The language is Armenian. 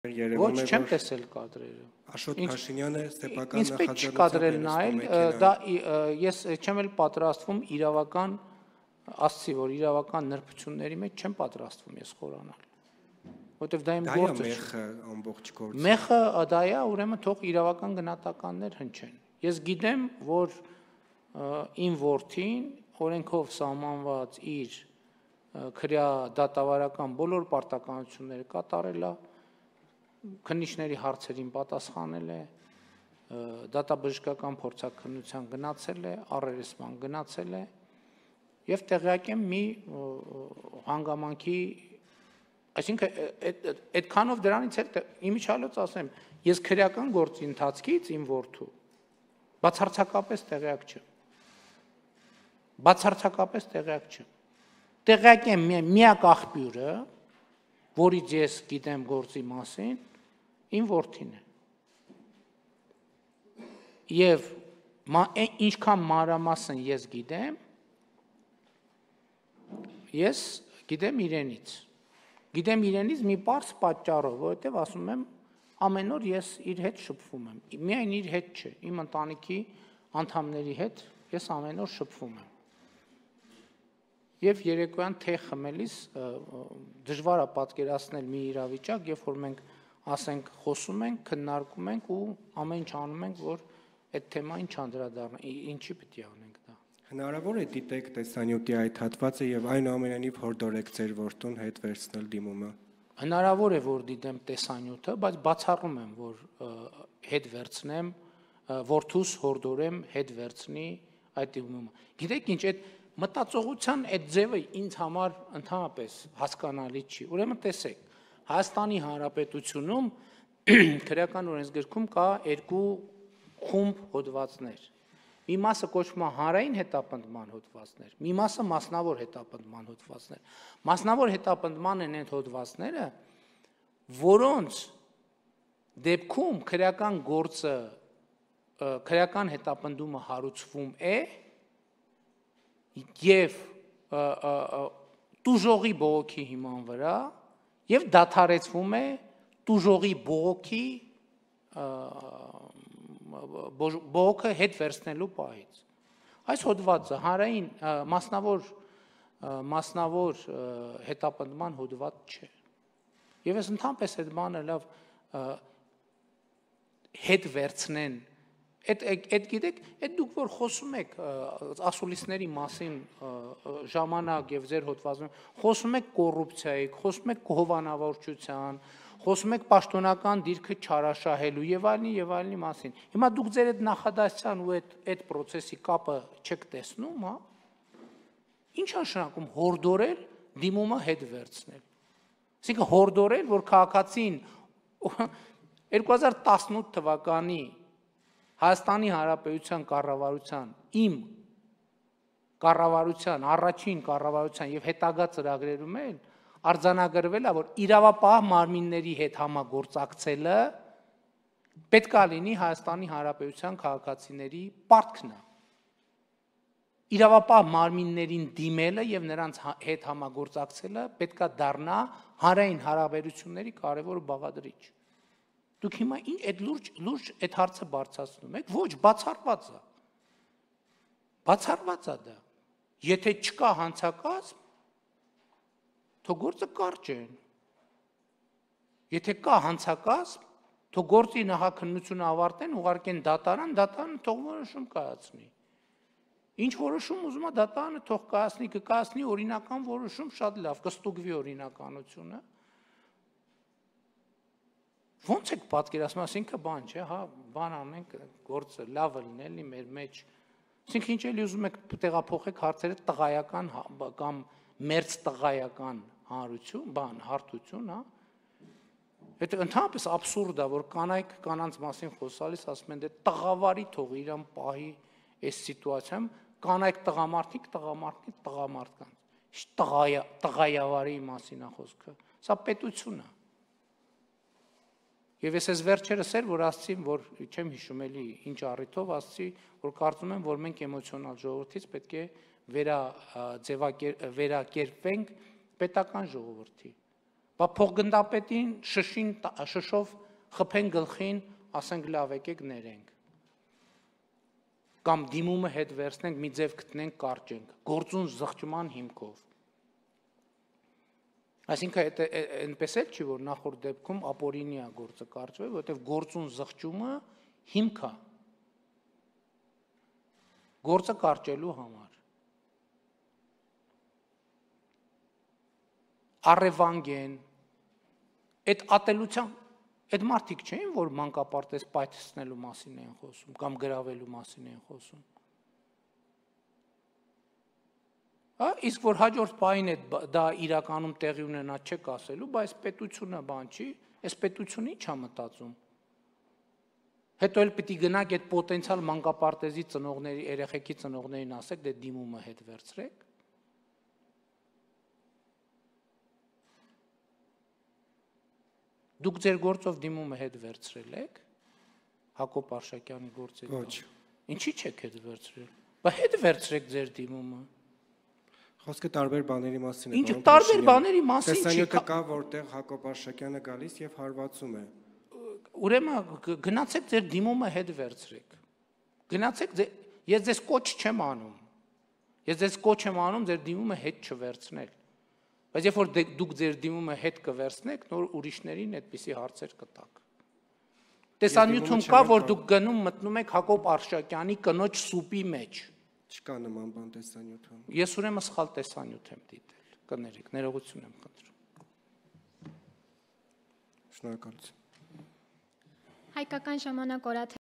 Ոչ, չեմ տեսել կադրերը։ Աշոտ Փաշինյանը սեփական նախաձեռնությամբ է չկադրել նայել, դա ես չեմ էլ պատրաստվում իրավական ասցի, որ իրավական նրբությունների մեջ չեմ պատրաստվում ես խորանալ։ Որտեվ դա իմ գործը չէ։ Մեղը ամբողջ գործը։ Մեղը դա է, ուրեմն թող իրավական գնահատականներ հնչեն։ Ես գիտեմ, որ իմ որդին օրենքով սահմանված իր քրյա դատավարական բոլոր պարտականությունները կատարել է, քննիչների հարցերին պատասխանել է, դատաբժշկական փորձաքննության գնացել է, առերեսման գնացել է եւ տեղյակ եմ մի հանգամանքի, այսինքն այդքանով դրանից էլ իմիջիալոց ասեմ, ես քրեական գործի ընթացքից իմ որդու բացարձակապես տեղյակ չեմ։ Բացարձակապես տեղյակ չեմ։ Տեղյակ եմ միակ աղբյուրը, որից ես գիտեմ գործի մասին, իմ որդին է։ Եվ ինչքան մանրամասն ես գիտեմ իրենից։ Գիտեմ իրենից մի պարզ պատճառով, որովհետև ասում եմ, ամեն օր ես իր հետ շփվում եմ։ Միայն իր հետ չէ, իմ ընտանիքի անդամների հետ ես ամեն օր շփվում եմ։ Եվ երեկոյան թեյ խմելիս դժվար է պատկերացնել մի իրավիճակ, երբ որ մենք ասենք խոսում ենք, քննարկում ենք ու ամեն ինչ անում ենք, որ այդ թեմային չանդրադառնա, ինչի պետք է անենք դա։ Հնարավոր է դիտեք տեսանյութի այդ հատվածը եւ այնուամենայնիվ հորդորեք ձեր որդուն հետ վերցնել դիմումը։ Հնարավոր է, որ դիտեմ տեսանյութը, բայց բացառում եմ, որ հետ վերցնեմ, որդուս հորդորեմ հետ վերցնի այդ դիմումը։ Գիտեք ինչ, այդ մտածողության այդ ձևը ինձ համար ընդհանրապես հասկանալի չի։ Ուրեմն տեսեք, Հայաստանի Հանրապետությունում քրեական օրենսգրքում կա երկու խումբ հոդվածներ։ Մի մասը կոչվում է հանրային հետապնդման հոդվածներ, մի մասը մասնավոր հետապնդման հոդվածներ։ Մասնավոր հետապնդման են այդ հոդվածները, որոնց դեպքում քրեական գործը, քրեական հետապնդումը հարուցվում է եւ տուժողի բողոքի հիման վրա եւ դադարեցվում է տուժողի բողոքի բողոքը հետ վերցնելու պահից։ Այս հոդվածը հանրային մասնավոր հետապնդման հոդված չէ։ Եվ ես ընդհանրապես այդ բանը լավ հետ վերցնեն, այդ գիտեք, այդ դուք որ խոսում եք ասուլիսների մասին ժամանակ եւ ձեր հոդվածում, խոսում եք կոռուպցիայի, խոսում եք հովանավորչության, խոսում եք պաշտոնական դիրքը չարաշահելու եւ այլնի մասին։ Հիմա դուք ձեր այդ նախադասության ու այդ process-ի կապը չեք տեսնում, հա։ Ինչ նշանակում հորդորել դիմումը հետ վերցնել։ Այսինքն հորդորել, որ քաղաքացին 2018 թվականի Հայաստանի Հանրապետության կառավարության, իմ կառավարության, առաջին կառավարության եւ հետագա ծրագրերում էլ արձանագրվել է, որ իրավապահ մարմինների հետ համագործակցելը պետք է լինի Հայաստանի Հանրապետության քաղաքացիների պարտքն է։ Իրավապահ մարմիններին դիմելը եւ նրանց հետ համագործակցելը պետք է դառնա հանրային հարաբերությունների կարևոր բաղադրիչ։ Դուք հիմա ինչ այդ լուրջ այդ հարցը բարձրացնում եք, ոչ, բացառված է։ Բացառված է դա։ Եթե չկա հանցակազմ, թող գործը կարճ են։ Եթե կա հանցակազմ, թող գործի նախաքննությունը ավարտեն, ուղարկեն դատարան, դատարանը թող որոշում կայացնի։ Ինչ որոշում ուզում է դատարանը թող կայացնի օրինական որոշում, շատ լավ, կստուգվի օրինականությունը։ Ոնց եք պատկերացնում, ասինքն բան չէ, հա, բան անենք, գործը լավը լինելի մեր մեջ։ Այսինքն ինչ էլի ուզում եք տեղափոխեք հարցերը տղայական կամ մերձ տղայական հարթություն, հա։ Այդ ընդհանրապես աբսուրդ է, որ կանայք կանանց մասին խոսալիս ասում են, դե տղավարի թող իրան պահի այս սիտուացիայում, կանայք տղամարդիկ տղամարդկանց։ Տղայավարի մասին է խոսքը։ Սա պետություն է։ Եվ ես վերջերս էր, որ ասացի, որ չեմ հիշում էլի ինչ առիթով ասացի, որ կարծում եմ, որ մենք էմոցիոնալ ժողովրդից պետք է վերակերպվենք պետական ժողովրդի։ Բա փոխգնդապետին շշով խփեն գլխին, ասենք լավ եկեք ներենք։ Կամ դիմումը հետ վերցնենք, մի ձև գտնենք, կարճենք, գործուն զղջման հիմքով։ Այսինքն այնպես էլ չի, որ նախորդ դեպքում ապօրինի է գործը կարճվել, որովհետև գործուն զղջումը հիմք է գործը կարճելու համար։ Առևանգ են, այդ ատելության, այդ մարդիկ չէին, որ մանկապարտեզ պայթեցնելու մասին են խոսում, կամ գրավելու մասին են խոսում։ Իսկ որ հաջորդ պահին դա իրականում տեղի ունենա չեք ասելու, բայց պետությունը բան չի, այս պետությունը ի՞նչ է մտածում։ Հետո էլ պիտի գնաք այդ պոտենցիալ մանկապարտեզի ծնողների, երեխեքի ծնողներին ասեք, դե դիմումը հետ վերցրեք։ Դուք ձեր գործով դիմումը հետ վերցրել եք Հակոբ Արշակյանի գործից։ Ոչ։ Ինչի՞ չեք հետ վերցրել։ Բա հետ վերցրեք ձեր դիմումը։ Խոսքը տարբեր բաների մասին է։ Ինչ տարբեր բաների մասին չի։ Տեսանյութը կա, որտեղ Հակոբ Արշակյանը գալիս եւ հարվածում է։ Ուրեմն գնացեք ձեր դիմումը հետ վերցրեք։ Գնացեք, ես ձեզ կոչ չեմ անում։ Ես ձեզ կոչ եմ անում ձեր դիմումը հետ չվերցնել։ Բայց երբ որ դուք ձեր դիմումը հետ կվերցնեք, նոր ուրիշներին այդպիսի հարցեր կտաք։ Տեսանյութում կա, որ դուք գնում մտնում եք Հակոբ Արշակյանի կնոջ սուպի մեջ։ Չկա նման բան տեսանյութում։ Ես ուրեմն սխալ տեսանյութ եմ դիտել։ Կներեք, ներողություն եմ խնդրում։ Շնորհակալություն։ Հայկական ժամանակ օրաթ